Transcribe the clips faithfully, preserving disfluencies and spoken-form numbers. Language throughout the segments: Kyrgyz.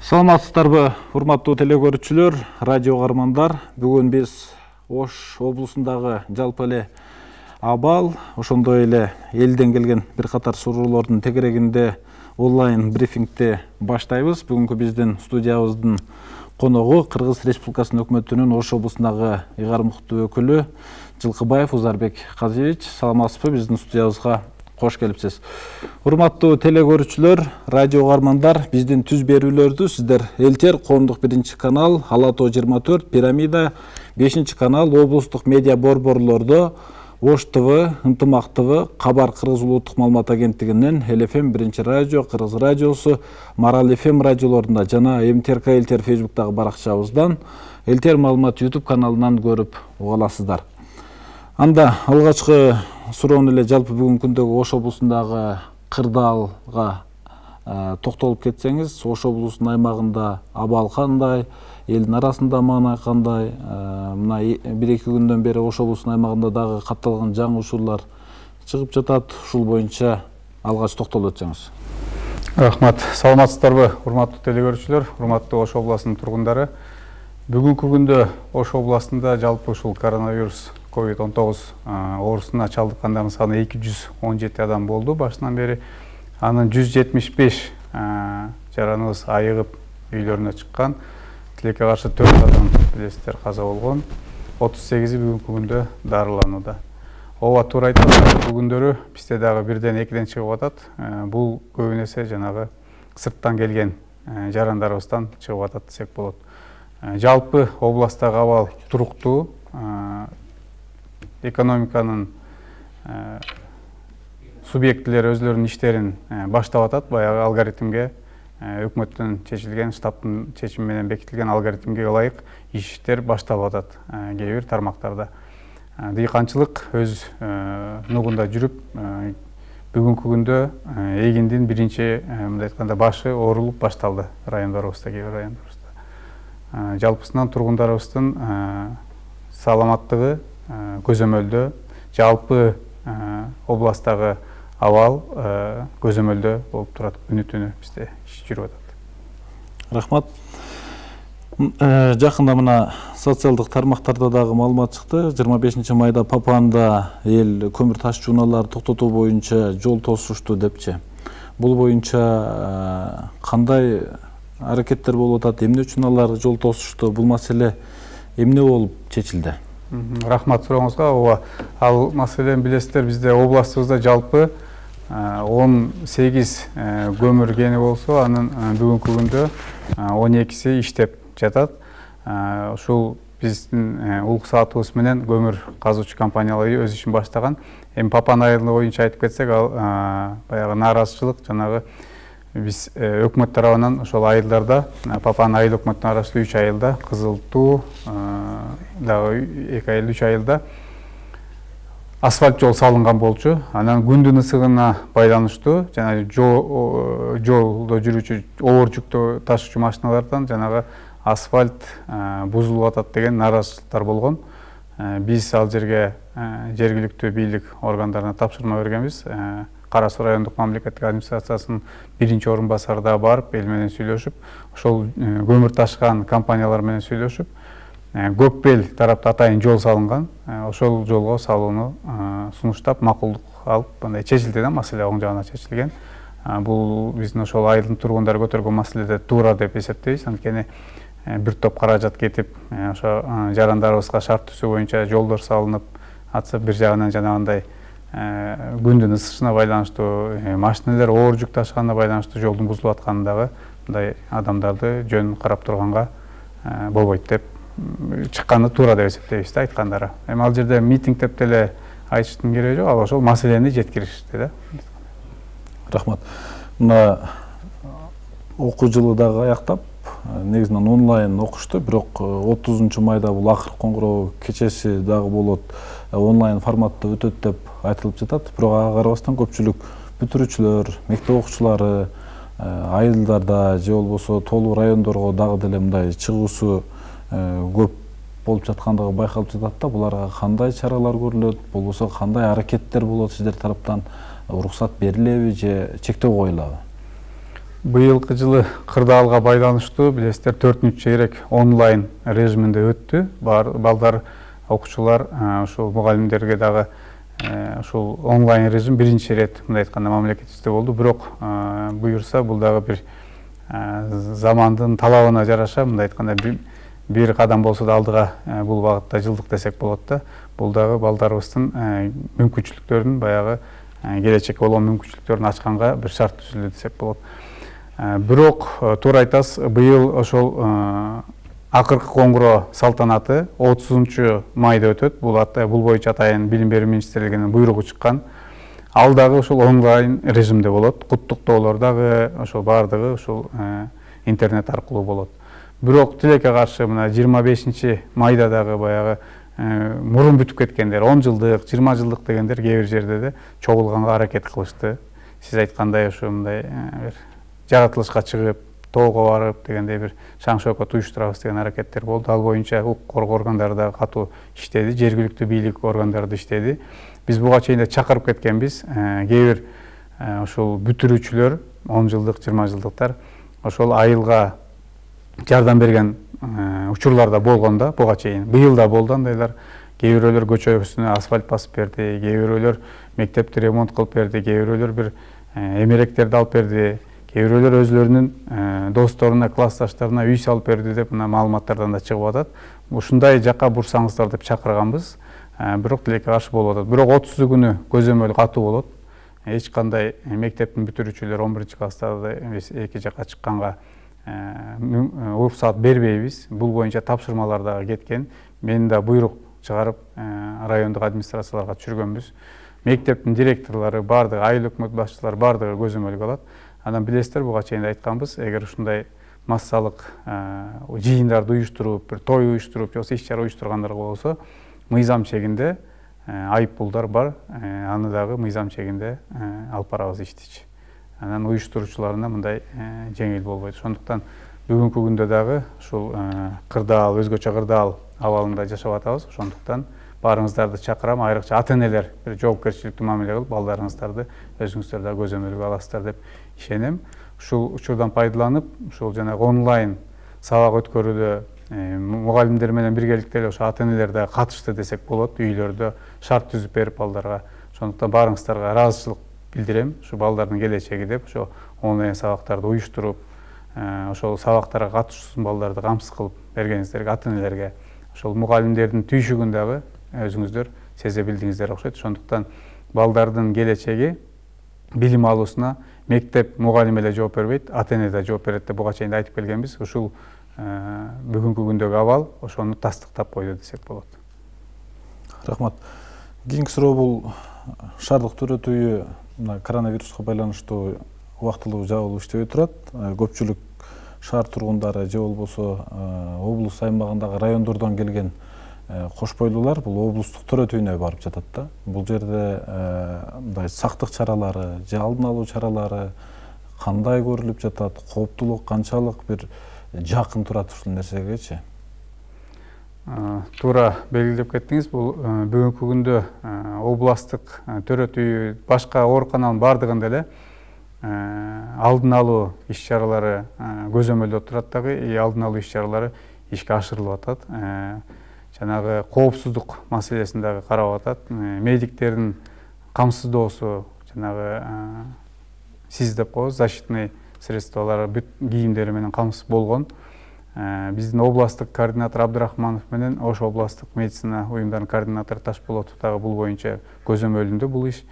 Саламатсыздарбы, урматтуу телекөрүүчүлөр, радио каармандар. Бүгүн биз Ош облусундагы жалпы эле абал, ошондой эле элден келген бир катар суроолордун тегерегинде онлайн брифингди баштайбыз. Бүгүнкү биздин студиябыздын коногу Кыргыз Республикасынын өкмөтүнүн Ош облусундагы ыйгарым укуктуу өкүлү Жылкыбаев Узарбек Казиевич. Саламатсызбы, биздин студиябызга кош келипсиз. Урматтуу телекөрүүчүлөр, радио каармандар, биздин түз берүүлөрдү сиздер Элтер коомдук биринчи канал, Ала тоо жыйырма төрт, Пирамида бешинчи канал, облустук медиа борборлордо, Ош ТВ, Ынтымак ТВ, Кабар Кыргыз улуттук маалымат агенттигинен, Эл Эф Эм биринчи радио, Кыргыз радиосу, Марал Эф Эм радиолорунда жана М Т Р К Элтер Фейсбуктагы баракчабыздан, Элтер маалымат YouTube каналынан көрүп уга аласыздар. Анда алгачкы суроону эле жалпы бүгүнкү күндөгү Ош облусундагы кырдаалга токтолуп кетсеңиз, Ош облусунун аймагында абал кандай, элдин арасында маанай кандай, мына бир эки күндөн бери Ош облусунун аймагында дагы катталган жаңы учурлар чыгып жатат. Ушул боюнча алгач токтолуп өтсөңүз. Рахмат. Саламатсыздарбы, урматтуу телекөрүүчүлөр, урматтуу Ош областынын тургундары. Бүгүнкү күндө Ош областында жалпы ушул коронавирус ковид он тогуз оорусуна чалдыккандардын саны эки жүз он жети адам болду башынан бери. Анын жүз жетимиш беш жараныбыз айыгып үйлөрүнө чыккан. Тилекке каршы төрт адам билесиздер каза болгон. отуз сегизи бүгүнкү күндө дарыланууда. Ооба, туура айтасыздар, бүгүндөрү бизде дагы бирден экиден чыгып атат. Бул көбүнесе жанагы сырттан келген жарандарыбыздан чыгып атат десек болот. Жалпы областтагы абал туруктуу. Экономиканын субъектилери өзлөрүнүн иштерин баштап атат. Баягы алгоритмге, өкмөттүн чечилген, штабтын чечими менен бекитилген алгоритмге ылайык иштер башталып атат кээ бир тармактарда. Дыйканчылык өз нугунда жүрүп, бүгүнкү күндө эгиндин биринчи мындай айтканда башы оорулуп башталды райондорубузда, кээ бир райондорубузда. Жалпысынан тургундарыбыздын саламаттыгы көзөмөлдө, жалпы областтагы абал көзөмөлдө болуп турат, күнү-түнү бизде иш жүрүп атат. Рахмат. Жакында мына социалдык тармактарда дагы маалымат чыкты. жыйырма бешинчи майда Папанда эл көмүр таш чууналарды токтотуу боюнча жол тосушту депчи. Бул боюнча кандай аракеттер болуп атат? Эмне үчүн алар жол тосушту? Бул маселе эмне болуп чечилди? Рахмат сурооңузга. Ооба, ал маселени билесиздер, бизде областыбызда жалпы он сегиз көмүр кени болсо, анын бүгүнкү күндө он экиси иштеп жатат. Ушул биздин улук саатыбыз менен көмүр казуучу компаниялар өз ишин баштаган. Эми Папан айылы боюнча айтып кетсек, ал баягы нааразычылык жанагы биз өкмөт тарабынан ошол айылдарда, Папан айыл өкмөттүн арасында үч айылда, Кызыл Туу дагы эки айыл, үч айылда асфальт жол салынган болчу. Анан күндүн ысыгына байланыштуу жана жолдо жүрүүчү оор жүктүү ташуучу машиналардан жанагы асфальт бузулуп атат деген нааразычылыктар болгон. Биз ал жерге жергиликтүү бийлик органдарына тапшырма бергенбиз. Кара Суу райондук мамлекеттик администрациясынын биринчи орун басары да барып, эл менен сүйлөшүп, ошол көмүр ташкан компаниялар менен сүйлөшүп, Көкбел тарапта атайын жол салынган. Ошол жолго салууну сунуштап, макулдук алып, мындай чечилди да, маселе оң жагына чечилген. Бул биздин ошол айылдын тургундары көтөргөн маселеде туура деп эсептейбиз. Анткени бир топ каражат кетип, ошо жарандарыбызга шарт түзүү боюнча жолдор салынып атса, бир жагынан жанагындай күндүн ысышына байланыштуу, машиналар оор жүк ташыганына байланыштуу жолдун бузулуп атканындагы мындай адамдарды жөн карап турганга болбойт деп чыкканы туура деп эсептейбиз да, айткандары. Эми ал жерде митинг деп деле айтыштын кереги жок, ал ошол маселени жеткиришти да. Рахмат. Мына окуу жылы дагы аяктап, негизинен онлайн окушту, бирок отузунчу майда бул акыркы коңгуроо кечеси дагы болот, онлайн форматта өтөт деп айтылып жатат. Бирок ага карабастан көпчүлүк бүтүрүүчүлөр, мектеп окуучулары айылдарда же болбосо толуу райондорго дагы деле мындай чыгуусу көп болуп жаткандыгы байкалып жатат да. Буларга кандай чаралар көрүлөт, болбосо кандай аракеттер болот сиздер тараптан? Уруксат берилеби же чектөө коюлабы? Быйылкы жылы кырдаалга байланыштуу билесиздер төртүнчү чейрек онлайн режиминде өттү. Балдар, окуучулар, ушул мугалимдерге дагы ушул онлайн режим биринчи ирет мындай айтканда мамлекетибизде болду. Бирок буюрса бул дагы бир замандын талабына жараша мындай айтканда бир кадам болсо да алдыга бул багытта жылдык десек болот да. Бул дагы балдарыбыздын мүмкүнчүлүктөрүн баягы келечекке болгон мүмкүнчүлүктөрүн ачканга бир шарт түзүлдү десек болот. Бирок туура айтасыз, быйыл ошол акыркы коңгуроо салтанаты отузунчу майда өтөт. Бул бул боюнча атайын билим берүү министрлигинин буйругу чыккан. Ал дагы ушул онлайн режимде болот. Куттуктоолор дагы ошол баардыгы ушул интернет аркылуу болот. Бирок тилекке каршы мына жыйырма бешинчи майда дагы баягы мурун бүтүп кеткендер, он жылдык, жыйырма жылдык дегендер кээ бир жерде чогулганга аракет кылышты. Сиз айткандай ошо мындай бир жаратылышка чыгып, тоого барып дегендей бир шаң шөкөт уюштурабыз деген аракеттер болду. Ал боюнча укук коргоо органдары да катуу иштеди, жергиликтүү бийлик органдары да иштеди. Биз буга чейин да чакырып кеткенбиз. Кээ бир ошол бүтүрүүчүлөр, он жылдык, жыйырма жылдыктар ошол айылга жардам берген учурлар да болгон да буга чейин. Быйыл да болду андайлар. Кээ бирөөлөр көчөсүнө асфальт басып берди, кээ бирөөлөр мектепти ремонт кылып берди, кээ бирөөлөр бир эмеректерди алып берди. Кээ бирөөлөр өзлөрүнүн досторуна, классташтарына үй салып берди деп мына маалыматтардан да чыгып атат. Ушундай жакка бурсаңыздар деп чакырганбыз. Бирок тилекке каршы болуп атат. Бирок отузу күнү көзөмөл катуу болот. Эч кандай мектептин бүтүрүүчүлөр он биринчи класстарды биз эки жакка чыкканга уруксат бербейбиз. Бул боюнча тапшырмалар дагы кеткен. Мен да буйрук чыгарып райондук администрацияларга түшүргөнбүз. Мектептин директорлору, баардыгы айыл өкмөт башчылары баардыгы көзөмөлгө алат. Анан билесиздер, буга чейин айтканбыз, эгер ушундай массалык жыйындарды уюштуруп, бир той уюштуруп, же болбосо иш чара уюштургандар болсо, мыйзам чегинде айыппулдар бар. Аны дагы мыйзам чегинде алып барабыз иштичи. Анан уюштуруучуларына мындай жеңил болбойт. Ошондуктан бүгүнкү күндө дагы ушул кырдаал, өзгөчө кырдаал абалында жашап атабыз. Ошондуктан баарыңыздарды чакырам, айрыкча ата-энелер бир жоопкерчиликтүү мамиле кылып, балдарыңыздарды өзүңүздөр да көзөмөлгө аласыздар деп ишенем. Ушул учурдан пайдаланып, ушул жанагы онлайн сабак өткөрүүдө мугалимдер менен биргеликте эле ошо ата-энелер да катышты десек болот. Үйлөрдө шарт түзүп берип балдарга. Ошондуктан баарыңыздарга ыраазычылык билдирем. Ушу балдардын келечеги деп ошо онлайн сабактарды уюштуруп, ошол сабактарга катышуусун балдарды камсыз кылып бергениңиздерге, ата-энелерге, ошол мугалимдердин түйшүгүн дагы өзүңүздөр сезе билдиңиздер окшойт. Ошондуктан балдардын келечеги билим алуусуна мектеп мугалим эле жооп бербейт, ата-эне да жооп берет деп буга чейин да айтып келгенбиз. Ушул бүгүнкү күндөгү абал ошону тастыктап койду десек болот. Рахмат. Кийинки суроо бул шаардык төрөт үйү мына коронавируска байланыштуу убактылуу жабылып иштебей турат. Көпчүлүк шаар тургундары же болбосо облус аймагындагы райондордон келген кош бойлуулар бул облустук төрөт үйүнө барып жатат да. Бул жерде мындай сактык чаралары же алдын алуу чаралары кандай көрүлүп жатат? Кооптулук канчалык бир жакын турат ушул нерсегечи? Туура белгилеп кеттиңиз. Бул бүгүнкү күндө областтык төрөт үйү башка ооруканалардын баардыгында эле алдын алуу иш чаралары көзөмөлдө турат дагы, алдын алуу иш чаралары ишке ашырылып атат. Жанагы коопсуздук маселесин дагы карап атат. Медиктердин камсыздоосу, жанагы сиз деп коебуз, защитный средстволор, бүт кийимдери менен камсыз болгон. Биздин областтык координатор Абдрахманов менен Ош областтык медицина уюмдарынын координатору Ташполотов дагы бул боюнча көзөмөлүндө бул иш.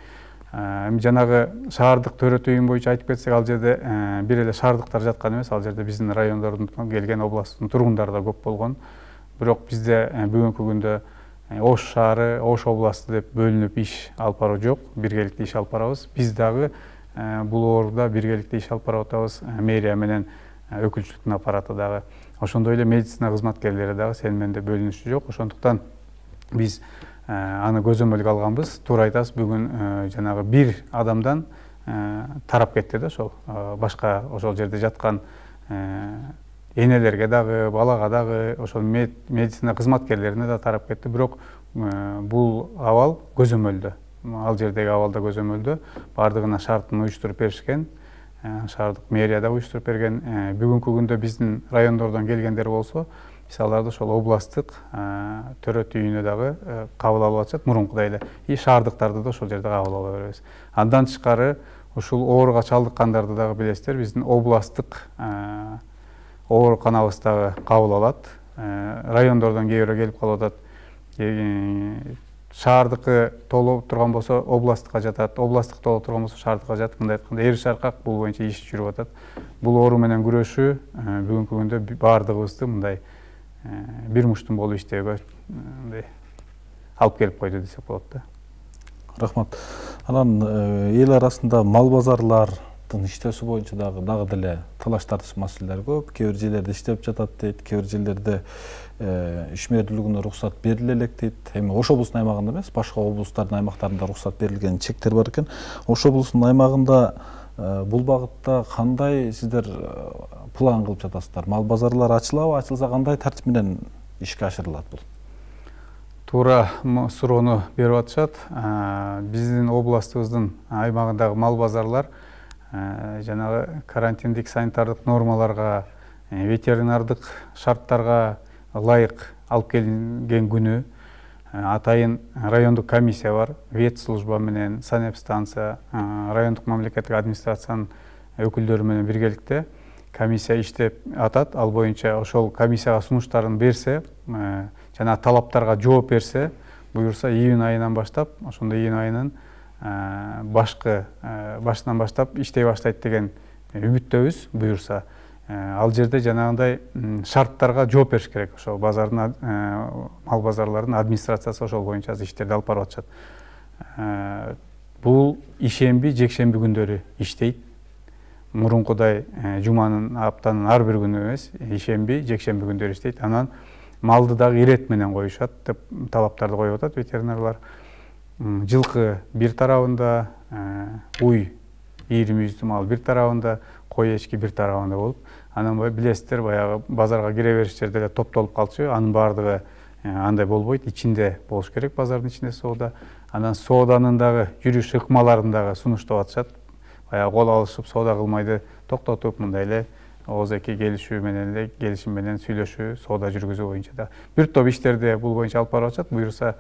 Жанагы шаардык төрөт үйүн боюнча айтып кетсек, ал жерде бир эле шаардыктар жаткан эмес, ал жерде биздин райондордон келген областтын тургундары да көп болгон. Бирок бизде бүгүнкү күндө Ош шаары, Ош областы деп бөлүнүп иш алып баруу жок, биргеликте иш алып барабыз. Биз дагы бул ооруда биргеликте иш алып барып атабыз. Мэрия менен өкүлчүлүктүн аппараты дагы, ошондой эле медицина кызматкерлери дагы сен менде бөлүнүшү жок. Ошондуктан биз аны көзөмөлгө алганбыз. Туура айтасыз, бүгүн жанагы бир адамдан тарап кетти да, ошол башка ошол жерде жаткан энелерге дагы, балага дагы, ошол медицина кызматкерлерине да тарап кетти. Бирок бул абал көзөмөлдө. Ал жердеги абалда көзөмөлдө, баардыгына шартын уюштуруп беришкен. шаардык мэрия да уюштуруп берген. Бүгүнкү күндө биздин райондордон келгендер болсо, биз аларды ошол областтык төрөт үйүнө дагы кабыл алып атышат мурункудай эле. И шаардыктарды да ошол жерде кабыл ала беребиз. Андан тышкары ушул ооруга чалдыккандарды дагы билесиздер, биздин областтык ооруканабыз дагы кабыл алат. Райондордон кээ бирөө келип калып атат. Шаардыкы толуп турган болсо областтыкка жатат, областтык толуп турган болсо шаардыкка жатат. Мындай айтканда эр шаркак бул боюнча иш жүрүп атат. Бул оору менен күрөшүү бүгүнкү күндө баардыгыбызды мындай бир муштун болуп иштөөгө мындай алып келип койду десек болот да. Рахмат. Анан эл арасында мал базарлардын иштөөсү боюнча дагы дагы деле талаш тартыш маселелер көп. Кээ бир жерлерде иштеп жатат дейт, кээ бир жерлерде ишмердүүлүгүнө уруксат бериле элек дейт. Эми Ош облусунун аймагында эмес, башка облустардын аймактарында уруксат берилген чектер бар экен. Ош облусунун аймагында бул багытта кандай сиздер план кылып жатасыздар? Мал базарлары ачылабы, ачылса кандай тартип менен ишке ашырылат бул? Туура суроону берип атышат. Биздин областыбыздын аймагындагы мал базарлар жанагы карантиндик санитардык нормаларга, ветеринардык шарттарга ылайык алып келинген күнү атайын райондук комиссия бар, ветслужба менен санэпстанция, райондук мамлекеттик администрациянын өкүлдөрү менен биргеликте комиссия иштеп атат. Ал боюнча ошол комиссияга сунуштарын берсе, жана талаптарга жооп берсе, буюрса июнь айынан баштап, ошондо июнь айынын башкы башынан баштап иштей баштайт деген үмүттөбүз. Буюрса ал жерде жанагындай шарттарга жооп бериш керек. Ошол базардын мал базарлардын администрациясы ошол боюнча иштерди алып барып атышат. Бул ишемби, жекшемби күндөрү иштейт. Мурункудай жуманын, аптанын ар бир күнү эмес, ишемби, жекшемби күндөрү иштейт. Анан малды дагы ирет менен коюшат деп талаптарды коюп атат ветеринарлар. Жылкы бир тарабында, уй ийрим жүздүү мал бир тарабында, кой эчки бир тарабында болуп, анан билесиздер, баягы базарга кире бериш жерде эле топтолуп калчу. Анын баардыгы андай болбойт, ичинде болуш керек, базардын ичинде соода. Анан сооданын дагы жүрүш ыкмаларын дагы сунуштап атышат. Баягы кол алышып соода кылмайды токтотуп, мындай эле ооз-эки келишүү менен эле, келишим менен сүйлөшүү, соода жүргүзүү боюнча да бир топ иштерди бул боюнча алып барып атышат. Буюрса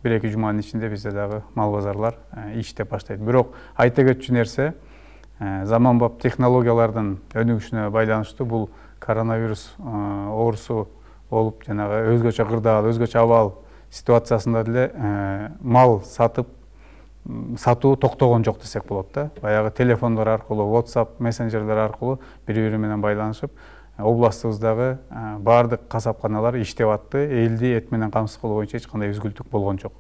бир-эки жуманын ичинде бизде дагы мал базарлар иштеп баштайт. Бирок айта кетчү нерсе, заманбап технологиялардын өнүгүшүнө байланыштуу бул коронавирус оорусу болуп, жанагы өзгөчө кырдаал, өзгөчө абал ситуациясында деле мал сатып сатуу токтогон жок десек болот да. Баягы телефондор аркылуу, WhatsApp мессенджерлер аркылуу бири-бири менен байланышып, областыбыздагы баардык касапканалар иштеп атты. Элди эт менен камсыз кылуу боюнча эч кандай үзгүлтүк болгон жок.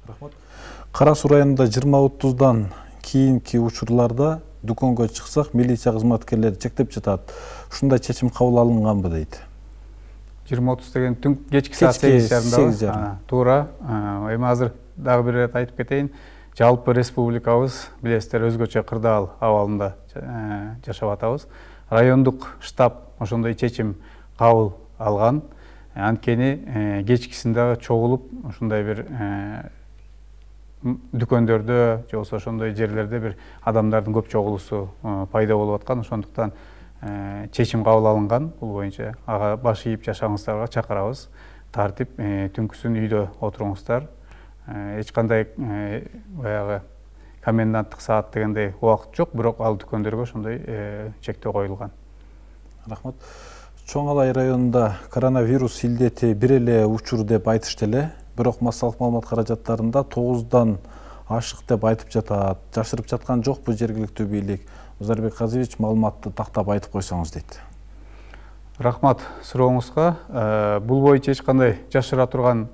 Рахмат. Кара Суу районунда жыйырма отуздан кийинки учурларда дүкөнгө чыксак, милиция кызматкерлери чектеп жатат. Ушундай чечим кабыл алынганбы дейт. жыйырма отуз деген түн кечки саат сегиз жарымда. Туура. Эми азыр дагы бир ирет айтып кетейин. Жалпы республикабыз билесиздер өзгөчө кырдаал абалында жашап атабыз. Райондук штаб ошондой чечим кабыл алган. Анткени кечкисин дагы чогулуп, ушундай бир дүкөндөрдө же болбосо ошондой жерлерде бир адамдардын көп чогулуусу пайда болуп аткан. Ошондуктан чечим кабыл алынган. Бул боюнча ага баш ийип жашаңыздарга чакырабыз. Тартип түнкүсүн үйдө отуруңуздар. Эч кандай баягы коменданттык саат дегендей убакыт жок, бирок ал дүкөндөргө ошондой чектөө коюлган. Рахмат. Чоң Алай районунда коронавирус илдети бир эле учур деп айтышты эле, бирок массалык маалымат каражаттарында тогуздан ашык деп айтып жатат. Жашырып жаткан жокпу жергиликтүү бийлик? Озарбек Казиевич маалыматты тактап айтып койсоңуз дейт. Рахмат сурооңузга. Бул боюнча эч кандай жашыра турган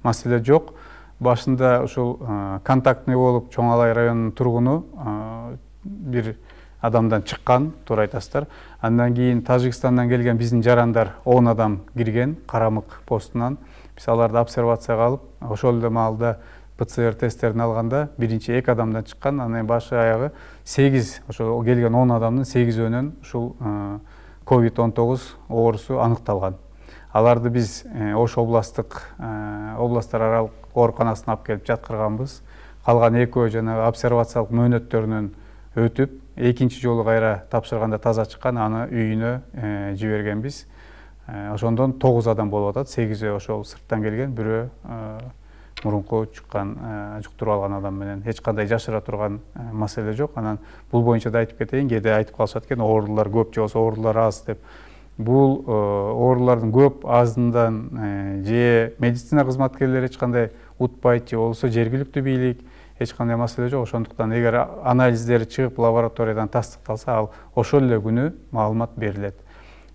маселе жок. Башында ушул контактный болуп Чоң Алай районунун тургуну бир адамдан чыккан, туура айтасыздар. Андан кийин Тажикстандан келген биздин жарандар он адам кирген Карамык постунан. Биз аларды обсервацияга алып, ошол эле маалда ПЦР тесттерин алганда биринчи эки адамдан чыккан, анан башы аягы сегиз, ошол келген он адамдын сегизөөнөн ушул ковид он тогуз оорусу аныкталган. Аларды биз Ош областтык областтар аралык ооруканасына алып келип жаткырганбыз. калган экөө жанагы обсервациялык мөөнөттөрүнөн өтүп, экинчи жолу кайра тапшырганда таза чыккан, аны үйүнө жибергенбиз. Ошондон тогуз адам болуп атат, сегизөө ошол сырттан келген, бирөө мурунку чыккан, жуктуруп алган адам менен. Эч кандай жашыра турган маселе жок. Анан бул боюнча да айтып кетейин, кээде айтып калышат экен, оорулар көп же болбосо оорулар аз деп. Бул оорулардын көп азынан же медицина кызматкерлери эч кандай утпайт, же болбосо жергиликтүү бийлик, эч кандай маселе жок. Ошондуктан эгер анализдери чыгып лабораториядан тастыкталса, ал ошол эле күнү маалымат берилет.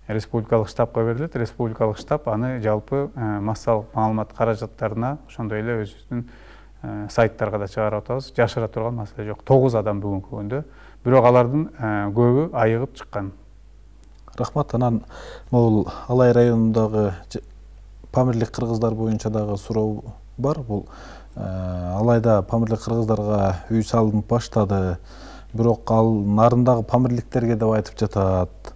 Республикалык штабка берилет. Республикалык штаб аны жалпы массалык маалымат каражаттарына, ошондой эле өзүбүздүн сайттарга да чыгарып атабыз. Жашыра турган маселе жок. тогуз адам бүгүнкү күндө. Бирок алардын көбү айыгып чыккан. Рахмат. Анан бул Алай районундагы Памирлик кыргыздар боюнча дагы суроо бар. Бул Алайда Памирлик кыргыздарга үй салынып баштады. Бирок ал нарындагы памирликтерге деп айтып жатат.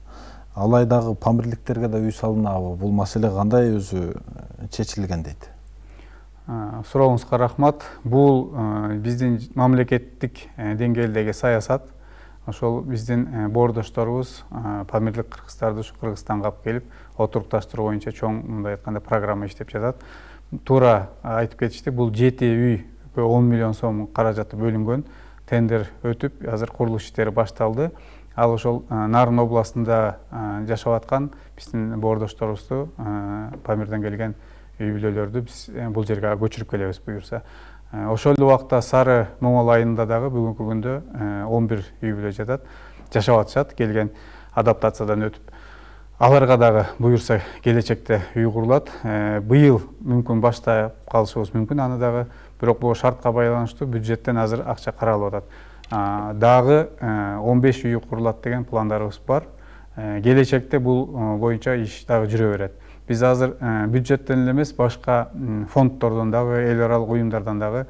Алайдагы памирликтерге да үй салынабы? Бул маселе кандай өзү чечилген дейт? Сурооңузга рахмат. Бул биздин мамлекеттик деңгээлдеги саясат. Ошол биздин боордошторубуз памирлик кыргыздарды ушу Кыргызстанга алып келип, отурукташтыруу боюнча чоң мындай айтканда программа иштеп жатат. Туура айтып кетишти, бул жети үй он миллион сом каражаты бөлүнгөн, тендер өтүп, азыр курулуш иштери башталды. Ал ошол Нарын областында жашап аткан биздин боордошторубузду, Памирден келген үй бүлөлөрдү биз бул жерге көчүрүп келебиз буюрса. Ошол эле убакта Сары Моңол айылында дагы бүгүнкү күндө он бир үй бүлө жатат, жашап атышат, келген адаптациядан өтүп. Аларга дагы буюрса келечекте үй курулат. Быйыл мүмкүн баштап калышыбыз мүмкүн аны дагы, бирок бул шартка байланыштуу бюджеттен азыр акча каралып атат. Дагы он беш үй курулат деген пландарыбыз бар. Келечекте бул боюнча иш дагы жүрө берет. Биз азыр бюджеттен эле эмес, башка фонддордон дагы, эл аралык уюмдардан дагы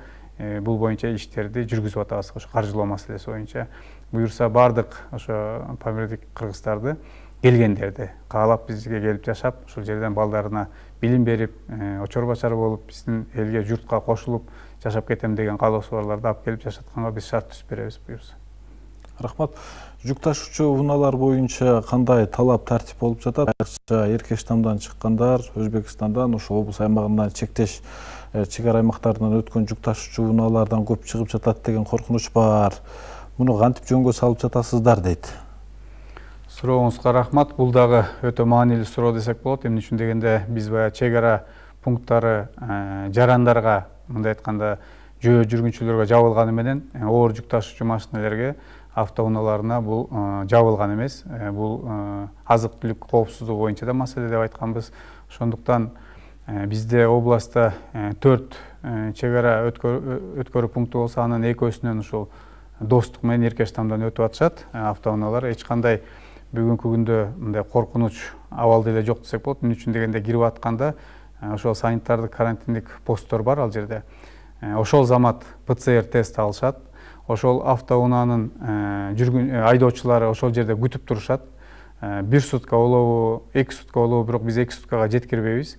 бул боюнча иштерди жүргүзүп атабыз. Ошо каржылоо маселеси боюнча буюрса бардык ошо памирлик кыргыздарды келгендерди каалап бизге келип жашап, ушул жерден балдарына билим берип, очор бачар болуп, биздин элге, журтка кошулуп жашап кетем деген каалоосу барларды алып келип жашатканга биз шарт түзүп беребиз буюрса. Рахмат. Жүк ташуучу унаалар боюнча кандай талап тартип болуп жатат? Айрыкча Эркештамдан чыккандар, Өзбекстандан, ошо облус аймагынан чектеш чек ара аймактарынан өткөн жүк ташуучу унаалардан көп чыгып жатат деген коркунуч бар. Муну кантип жөнгө салып жатасыздар дейт. Сурооңузга рахмат. Бул дагы өтө маанилүү суроо десек болот. Эмне үчүн дегенде биз баягы чек ара пункттары жарандарга, мындай айтканда, жөө жүргүнчүлөргө жабылганы менен оор жүк ташуучу машиналерге, автоунааларына бул жабылган эмес. Бул азык түлүк коопсуздугу боюнча да маселе деп айтканбыз. Ошондуктан бизде областта төрт чек ара өткөрүү пункту болсо, анын экөөсүнөн ушул Достук менен Эркештамдан өтүп атышат автоунаалар. Эч кандай бүгүнкү күндө мындай коркунуч абал деле жок десек болот. Эмне үчүн дегенде кирип атканда ошол санитардык карантиндик посттор бар ал жерде. Ошол замат ПЦР тест алышат. Ошол автоунаанын жүргүн айдоочулары ошол жерде күтүп турушат. Бир сутка болобу, эки сутка болобу, бирок биз эки суткага жеткирбейбиз.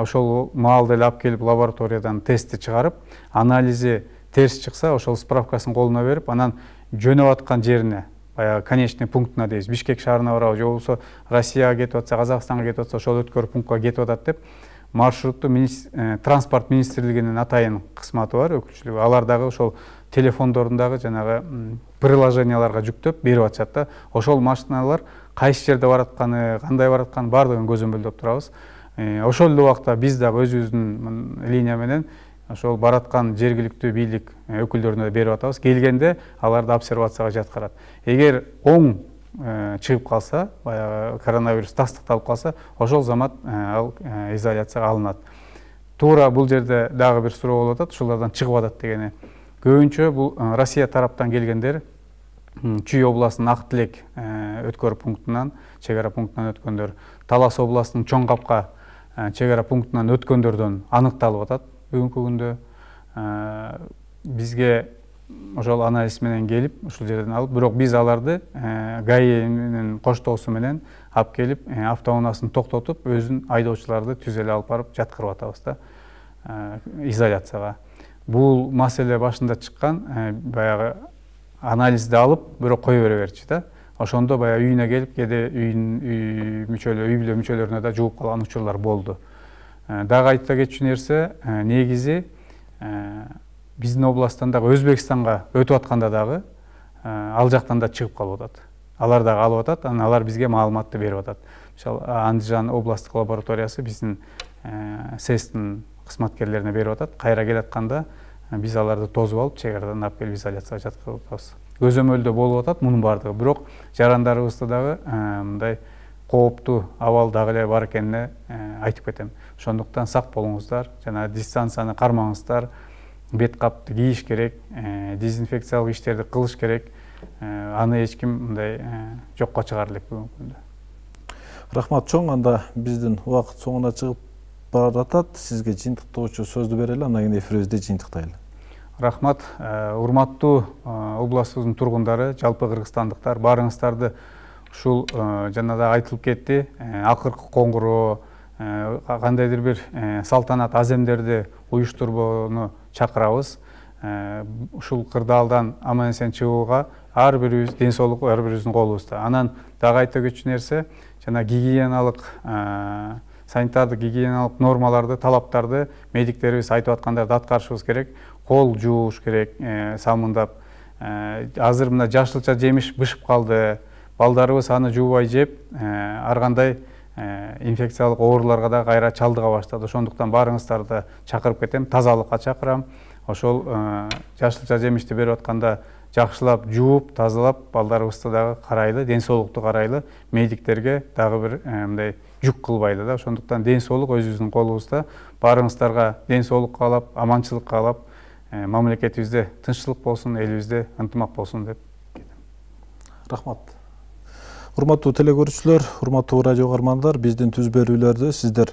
Ошол маалда эле алып келип лабораториядан тестти чыгарып, анализи терс чыкса, ошол справкасын колуна берип, анан жөнөп аткан жерине, баягы конечный пунктуна дейбиз, Бишкек шаарына барабы, же болбосо Россияга кетип атса, Казакстанга кетип атса, ошол өткөрүү пунктка кетип атат деп маршрутту транспорт министрлигинин атайын кызматы бар, өкүлчүлүгү. Алар дагы ошол телефондорундагы жанагы приложенияларга жүктөп берип атышат да. Ошол машиналар кайсы жерде баратканы, кандай баратканы бардыгын көзөмөлдөп турабыз. Ошол эле убакта биз дагы өзүбүздүн линия менен ошол бараткан жергиликтүү бийлик өкүлдөрүнө берип атабыз. Келгенде аларды обсервацияга жаткырат. Эгер оң чыгып калса, баягы коронавирус тастыкталып калса, ошол замат ал изоляцияга алынат. Туура бул жерде дагы бир суроо болуп атат, ушулардан чыгып атат дегени. Көбүнчө бул Россия тараптан келгендер Чүй областынын Ак Тилек өткөрүү пунктунан, чек ара пунктунан өткөндөр, Талас областынын Чоң Капка чек ара пунктунан өткөндөрдөн аныкталып атат. Бүгүнкү күндө бизге ошол анализ менен келип, ушул жерден алып, бирок биз аларды ГАИнин коштоосу менен алып келип, автоунаасын токтотуп, өзүн айдоочуларды түз эле алып барып жаткырып атабыз да изоляцияга. бул маселе башында чыккан баягы анализди алып бирок кое бере берчү да. Ошондо баягы үйүнө келип, кээде үйүн мүчөлөр, үй бүлө мүчөлөрүнө да жууп калган учурлар болду. Дагы айта кетчү нерсе, негизи биздин областтан дагы Өзбекстанга өтүп атканда дагы ал жактан да чыгып калып атат. Алар дагы алып атат, анан алар бизге маалыматты берип атат. Мисалы, Андижан областтык лабораториясы биздин сэстин кызматкерлерине берип атат. Кайра келатканда биз аларды тосуп алып, чек арадан алып келип изоляцияга жаткызып атабыз. Көзөмөлдө болуп атат мунун баардыгы, бирок жарандарыбызда дагы мындай кооптуу абал дагы эле бар экенине айтып кетем. Ошондуктан сак болуңуздар, жана дистанцияны кармаңыздар, бет капты кийиш керек, дезинфекциялык иштерди кылыш керек. Аны эч ким мындай жокко чыгара элек бүгүнкү күндө. Рахмат чоң, анда биздин убакыт соңуна чыгып баратат. Сизге жыйынтыктоочу сөздү берели, андан кийин эфирибизди жыйынтыктайлы. Рахмат, урматтуу областыбыздын тургундары, жалпы кыргызстандыктар, баарыңыздарды ушул жана да айтылып кетти, акыркы коңгуроо, кандайдыр бир салтанат аземдерди уюштурууну чакырабыз. Ушул кырдаалдан аман эсен чыгууга ар бирибиз ден соолук ар бирибиздин колубузда. Анан дагы айта кетчү нерсе, жана гигиеналык, санитардык гигиеналык нормаларды, талаптарды медиктерибиз айтып аткандарды аткарышыбыз керек. Кол жууш керек, самындап. Азыр мына жашылча жемиш бышып калды. Балдарыбыз аны жуубай жеп, ар кандай инфекциялык ооруларга да кайра чалдыга баштады. Ошондуктан баарыңыздарды чакырып кетем, тазалыкка чакырам. Ошол жашылча жемишти берип атканда жакшылап жууп, тазалап, балдарыбызды дагы карайлы, ден соолукту карайлы, медиктерге дагы бир мындай жүк кылбайлы да. Ошондуктан ден соолук өзүбүздүн колубузда. Баарыңыздарга ден соолук каалап, аманчылык каалап, мамлекетибизде тынччылык болсун, элибизде ынтымак болсун деп кетем. Рахмат. Урматтуу телекөрүүчүлөр, урматтуу радио каармандар, биздин түз берүүлөрдү сиздер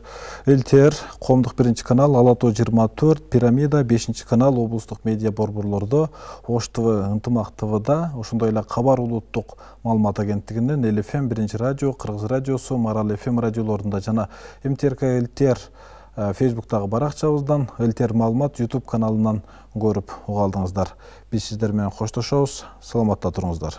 эл ти эр, Коомдук биринчи канал, Ала Тоо жыйырма төрт, Пирамида бешинчи канал, облустук медиа борборлордо, Ош ТВ, Ынтымак ТВда, ошондой эле Кабар улуттук маалымат агенттигинен, Эл эф эм биринчи радио, Кыргыз радиосу, Марал эф эм радиолорунда жана эм ти эр ка эл ти эр Фейсбуктагы баракчабыздан, эл ти эр маалымат YouTube каналынан көрүп уга алдыңыздар. Биз сиздер менен коштошобуз. Саламатта туруңуздар.